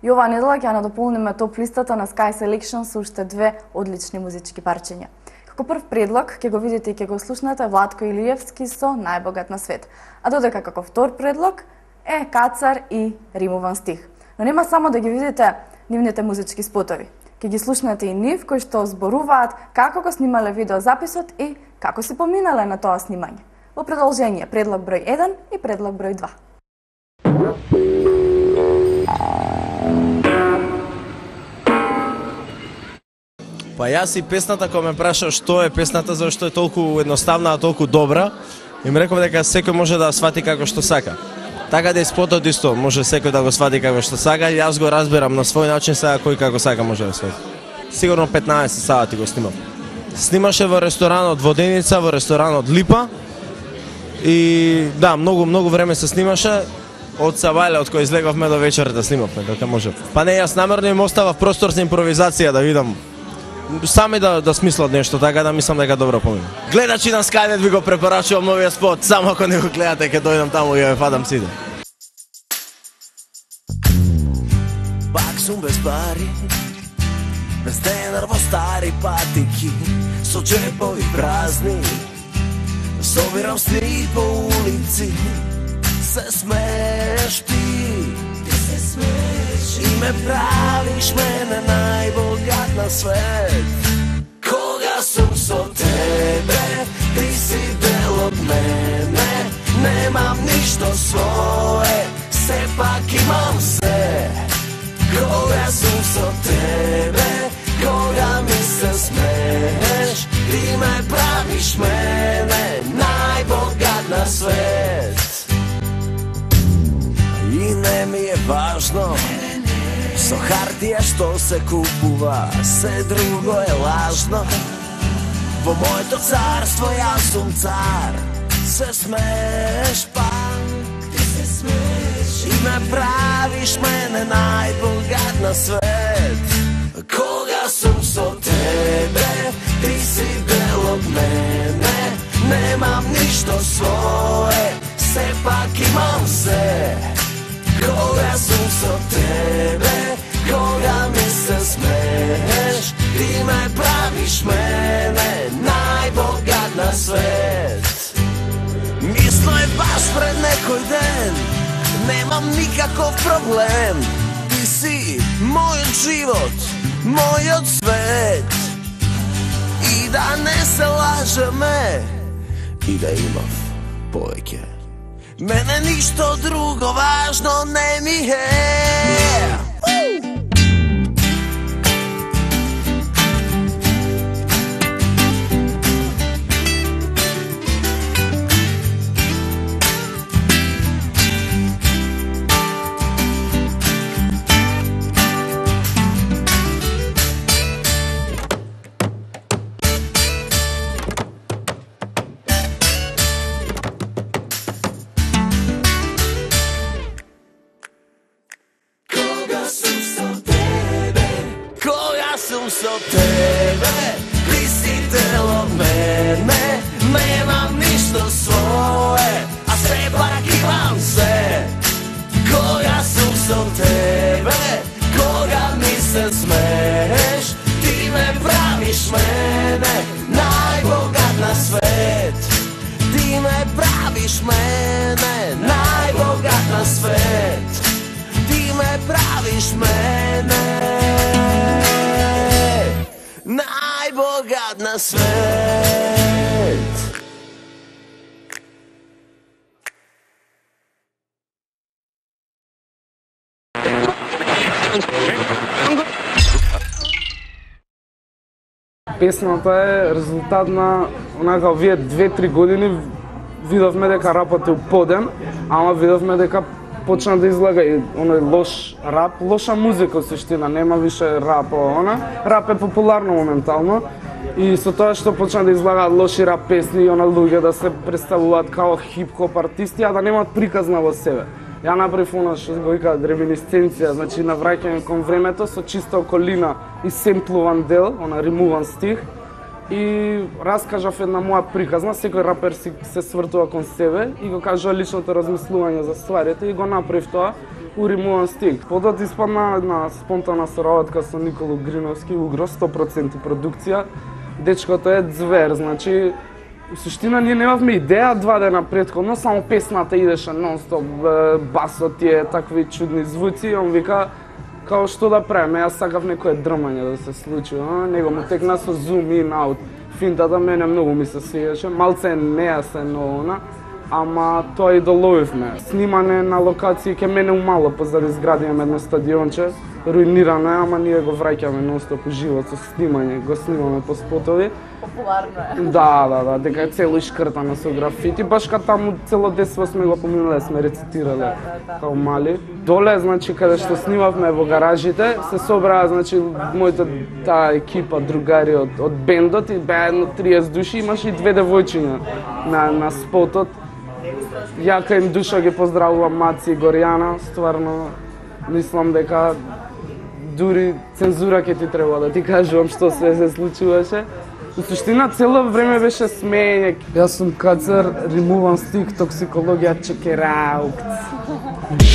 И оваа недела ќе надополниме топ листата на Sky Selection со уште две одлични музички парчиња. Како прв предлог ќе го видите и ќе го слушнете Владко Илиевски со Најбогат на свет. А додека како втор предлог е Кацар и римуван стих. Но нема само да ги видите нивните музички спотови. Ќе ги слушнете и нив кои што зборуваат како го снимале видеозаписот и како си поминале на тоа снимање. Во продолжение предлог број 1 и предлог број 2. Па јас и песната, кога ме праша што е песната, зашто е толку едноставна, а толку добра, им реков дека секој може да свати како што сака. Така да и спотот исто, може секој да го свати како што сака, јас го разбирам на свој начин, сега кој како сака може да свати. Сигурно 15 сати го снимав. Снимаше во ресторанот Воденица, во ресторанот Липа и да, многу време се снимаше. Од Савајле, од кој излеговме до вечерта снимавме, дека може. Па не, јас намерно им оставав простор за импровизација да видам сами да смислат нешто, така да мислам дека добро помина. Гледачи на Skynet ви го препорачувам новиот спот, само ако не го гледате ќе дојдам таму и ја фадам сите. Пак сум без пари, без денар во стари патики, со джепови празни, собирам сни по улици, се смееш ти, се смееш и ме правиш мене најбогат на свет. Кога сум со тебе, ти си дел од мене, немам ништо свое, сепак имам се. Кога сум со тебе, кога ми се смееш, ти ме правиш мене најбогат на свет. И не ми е важно со хартија што се купува, се друго е лажно. Во моето царство јас сум цар, се смееш пак, ти се смееш и ме правиш мене најбогат на свет. Кога сум со тебе, ти си дел од мене, немам ништо свое, сепак имам се. Кога сум со тебе, кога ми се смееш, ти ме правиш мене најбогат на свет. Мисло е баш пред некој ден, немам никаков проблем, ти си мојот живот, мојот свет. И да не се лажеме, и да имав повеќе, мене ништо друго важно не ми е. Со тебе, ти си дел од мене, немам ништо свое, а сепак имам се. Кога сум со тебе, кога ми се смееш, ти ме правиш мене најбогат на свет. Ти ме правиш мене најбогат на свет. Ти ме правиш мене најбогат на свет. Песната е резултат на онака овие 2-3 години видовме дека рапот е уподен, ама видовме дека почна да излага и оној лош рап, лоша музика суштина, нема више рап, рап е популарно моментално и со тоа што почна да излагаат лоши рап песни и луѓе да се представуваат као хип-хоп артисти, а да немаат приказна во себе. Ја направив она што го викаат реминисценција, значи навраќање кон времето со чиста околина и семплуван дел, римуван стих. и раскажав една моја приказна, секој рапер се свртува кон себе и го кажува личното размислување за стварите и го направив тоа у римуван стих. Потоа испадна една спонтана соработка со Николо Гриновски, Угро, 100% продукција. Дечкото е звер, значи у суштина ние немавме идеја 2 дена претходно, само песната идеше нон-стоп, басот тие такви чудни звуци и он вика као што да правиме, јас сакав некое дрмање да се случи, него му текна со zoom in out. Финтата мене многу ми се свиеше, малце нејасен она, ама тоа и доловивме. Снимане на локации ке мене умало, позади изградиме едно стадионче, руинирано е, ама ние го враќаме нон-стоп живот со снимање, го снимаме по спотови. Популарно е. Да, дека е цело ишкртано со графити, баш кај таму цело детство сме го поминале, сме рецитирале као мали. Доле, значи, каде што снимавме во гаражите, се собраа, значи, мојата таа екипа, другари од бендот и беа едно 30 души, имаше и 2 девојчиња на спотот. Јака им душа ги поздравувам Маци и Горјана, стварно мислам дека дури цензура ќе ти треба да ти кажувам што се случуваше. У суштина цело време беше смеење. Јас сум кацар, римуван стих, токсикологија, чекераукц.